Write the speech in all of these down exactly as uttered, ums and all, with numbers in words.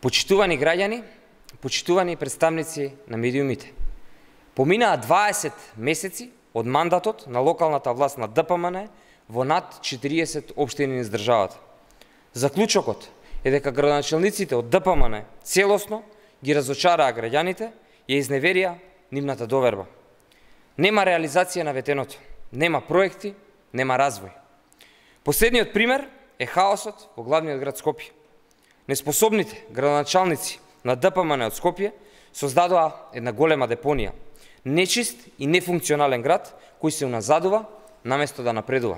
Почитувани граѓани, почитувани представници на медиумите. Поминаа дваесет месеци од мандатот на локалната власт на Д П М Н во над четириесет општини низ државата. Заклучокот е дека градоначалниците од Д П М Н целосно ги разочараа граѓаните и ја изневерија нивната доверба. Нема реализација на ветеното, нема проекти, нема развој. Последниот пример е хаосот во главниот град Скопје. Неспособните градоначалници на Д П М Н од Скопје создадоа една голема депонија, нечист и нефункционален град кој се уназадува наместо да напредува.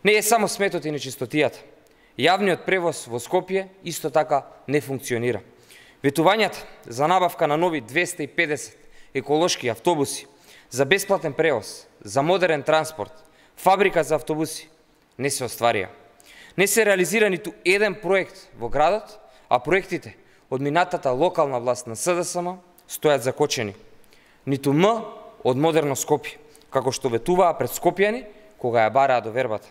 Не е само сметот и нечистотијата. Јавниот превоз во Скопје исто така не функционира. Ветувањата за набавка на нови двесте и педесет еколошки автобуси, за бесплатен превоз, за модерен транспорт, фабрика за автобуси не се остварија. Не се реализира ниту еден проект во градот, а проектите од минатата локална власт на С Д С М стојат закочени. Ниту М од модерно Скопје, како што ветуваа пред скопјани кога ја бараа довербата.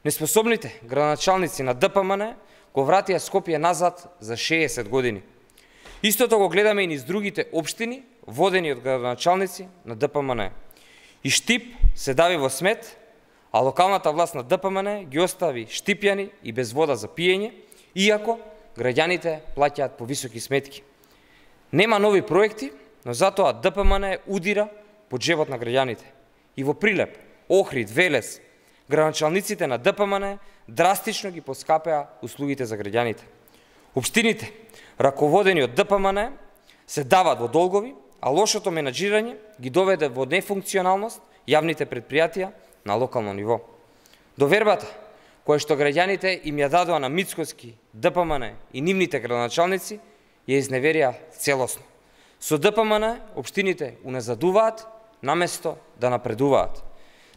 Неспособните градоначалници на Д П М Н го вратија Скопје назад за шеесет години. Истото го гледаме и низ другите општини, водени од градоначалници на Д П М Н. И Штип се дави во смет, а локалната власт на Д П М Н ги остави штипјани и без вода за пиење, иако граѓаните плаќаат повисоки сметки. Нема нови проекти, но затоа Д П М Н удира по джебот на граѓаните. И во Прилеп, Охрид, Велес, градоначалниците на Д П М Н драстично ги поскапеа услугите за граѓаните. Општините, раководени од Д П М Н, се дават во долгови, а лошото менаџирање ги доведе во нефункционалност јавните предпријатија на локално ниво. Довербата, која што граѓаните им ја дадоа на Мицкоски, Д П М Н и нивните градоначалници, ја изневерија целосно. Со Д П М Н општините уназадуваат наместо да напредуваат.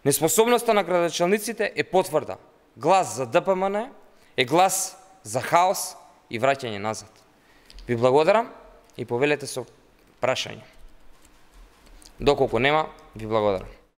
Неспособноста на градоначалниците е потврда. Глас за Д П М Н е глас за хаос и враќање назад. Ви благодарам и повелете со прашање. Доколку нема, ви благодарам.